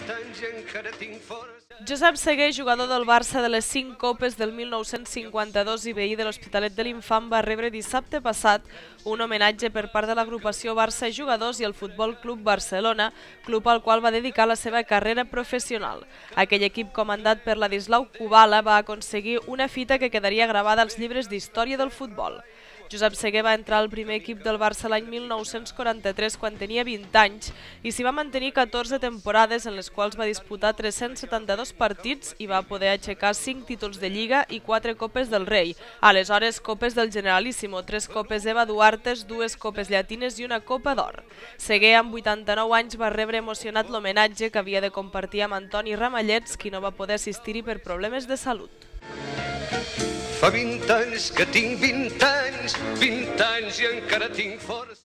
20 anys i encara tinc força. Josep Segué, jugador del Barça de les 5 copes del 1952 i veí de l'Hospitalet de l'Infant, va rebre dissabte passat un homenatge per part de l'agrupació Barça Jugadors i el Futbol Club Barcelona, club al qual va dedicar la seva carrera professional. Aquell equip comandat per Ladislau Kubala va aconseguir una fita que quedaria gravada als llibres d'història del futbol. Josep Segué va entrar al primer equip del Barça l'any 1943 quan tenia 20 anys i s'hi va mantenir 14 temporades en les quals va disputar 372 partits i va poder aixecar 5 títols de Lliga i 4 Copes del Rei, aleshores Copes del Generalíssimo, 3 Copes Eva Duartes, 2 Copes Llatines i una Copa d'Or. Segué, amb 89 anys, va rebre emocionat l'homenatge que havia de compartir amb Antoni Ramallets, qui no va poder assistir-hi per problemes de salut. Fa 20 anys que tinc 20 anys i encara tinc força.